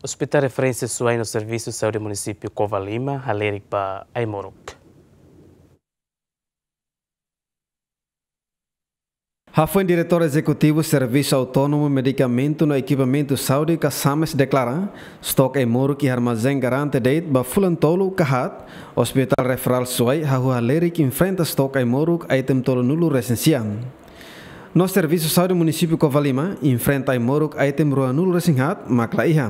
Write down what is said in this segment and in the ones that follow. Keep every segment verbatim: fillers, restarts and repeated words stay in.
Hospital Referénsia Suai no Servisu Saúde Munisípiu Covalima halerik ba ai-moruk. Hafoin Diretór Ezekutivu Servisu Autónomu Medikamentu no Ekipamentu Saúde ka SAMES deklara, stok ai-moruk iha armazén garante de'it ba fulan tolu ka haat, Hospital Referral Suai hahú halerik enfrenta stok ai-moruk item tolunulu-resin-sia. No Servisu Saúde Munisípiu Covalima enfrenta ai-moruk item ruanulu-resin-haat mak la iha.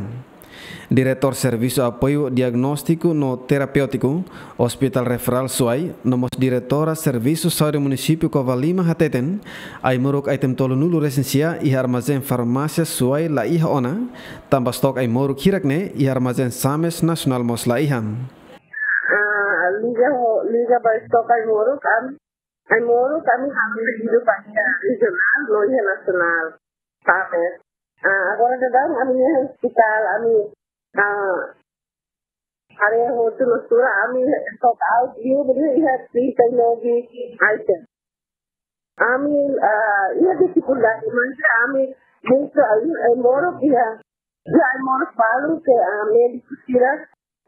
Diretór Servisu Apoiu Diagnóstiku no Terapéutiku, Hospital Referral Suai, no mós Diretora Servisu Saúde Munisípiu Covalima hateten, ai-moruk item tolunulu-resin-sia iha armazén farmásia Suai la iha ona, tanba stok ai-moruk hirak ne'e iha armazén SAMES nasionál mós la iha. Ah, liga ho, liga ba stok ai-moruk, am, ai-moruk ami halo pedidu ba iha regionál, no iha nasionál, SAMES. Ah, agora daudaun ami iha ospitál, ami, ah, área hotu no sura, ami stock out, iha, iha trinta e nove item. Ami, ah, iha difikuldade, mas ami, muito, ai-moruk iha, iha ai-moruk balu ke, ah, médiku sira,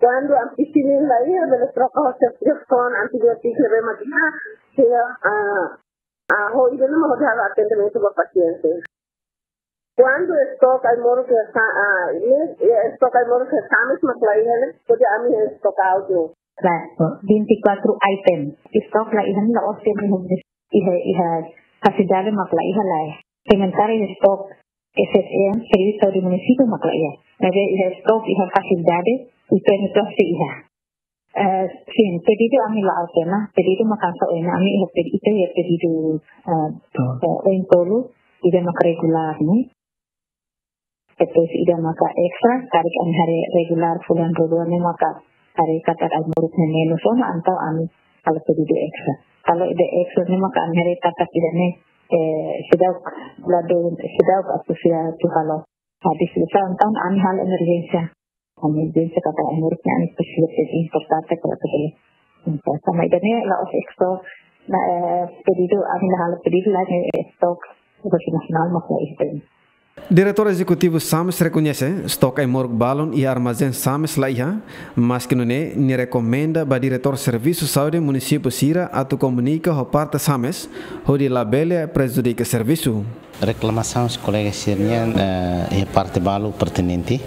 kuandu ami pisin la iha, bele troka ho self-check kon, antibiótiku ne'ebé mak iha, sira, ah, ah, ho ida-ne'e mak hodi halo atendimentu ba pasiente. Kuandu stok ai-moruk iha sa-, ah, ne'e, eh, stok ai-moruk iha SAMES mak la iha ne'e, hodi ami iha stock out ne'e. Klaru, vinte e quatro item. Stok la iha ne'e la'ós de'it iha, iha, iha fasilidade mak la iha lae. Sementara iha stok S S M, Servisu Saúde Munisípiu mak la iha. Maibé iha stok iha fasilidade, I P M to'o sei iha. Eh, sin, pedidu ami la'o tiha ona, pedidu mak hanesan ohin ami iha pedi-, ita iha pedidu, eh, eh, ohin tolu, ida maka regulár, ne'e. Depois ida maka extra, karik ami haree regulár fulan rua ne'e maka haree katak ai-moruk ne'e menus ona, entaun ami halo pedidu extra. Kalau ida extra ne'e maka ami haree katak ida-ne'e, eh, seidauk, ladu seidauk atu sira atu halo habis, entaun ami halo emerjénsia. Ami bisa kata Amerika, ami presiza ser importante para poder importa. Sama ida-ne'e la'ós stok, na, eh, pedidu, ami la halo pedidu, la, eh, stok, internasionál mak la iha. Diretór Ezekutivu SAMES rekoñese, stok ai-moruk balun iha armazén SAMES la iha, maski nune'e, nia rekomenda ba Diretór Servisu Saúde Munisípiu sira atu komunika ho parte SAMES, hodi labele prejudika servisu. Reklamasaun husi kolega sira-nian, eh, iha parte balu pertinente.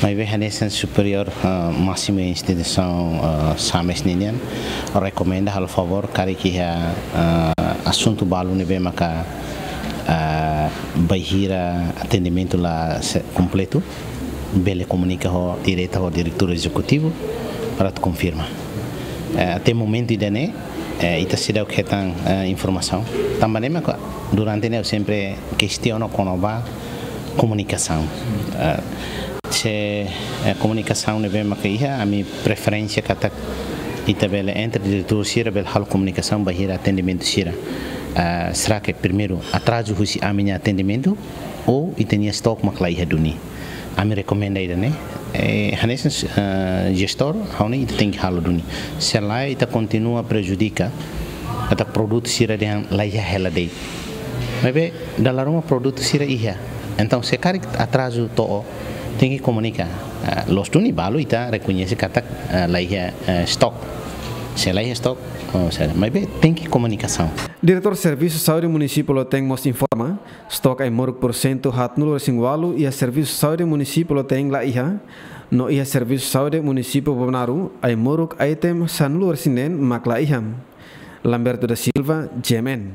Maibé hanesan superiór, eh, másimu instituisaun, eh, SAMES ninian rekomenda halo favór karik iha, eh, asuntu balu ne'ebé maka, eh, bainhira atendimentu la se-, kompletu, bele komunika ho direta ho diretór ezekutivu para atu konfirma. Eh, até momentu ida-ne'e, eh, ita seidauk hetan, eh, informasaun. Tanba ne'e maka durante ne'e ha'u sempre kestiona kona-ba komunikasaun. Eh, se, eh, komunikasaun ne'ebé maka iha, ami preferénsia katak ita bele entre diretór sira bele halo komunikasaun bainhira atendimentu sira. Eh, será que primeiru atrazu husi ami-nia atendimentu ou ita-nia stok mak la iha duni? Ami rekomenda ida-ne'e, eh, hanesan, eh, jestór, ha'u hanoin ita tenke halo duni. Se lae ita kontinua prejudika, katak produtu sira dehan la iha hela de'it. Maibé, dala ruma produtu sira iha. Entaun, se karik atrazu to'o, tenke komunika. Eh, loos duni balu ita rekoñese katak, eh, la iha, eh, stok. Se la iha stok, oh, se, maibé tenke komunikasaun. Diretór Servisu Saúde Munisípiu Loteng mós informa, stok ai-moruk pursentu haatnulu-resin-ualu iha Servisu Saúde Munisípiu Loteng la iha, no iha Servisu Saúde Munisípiu Bobonaro, ai-moruk item sanulu-resin-neen mak la iha. Lamberto da Silva, G M N.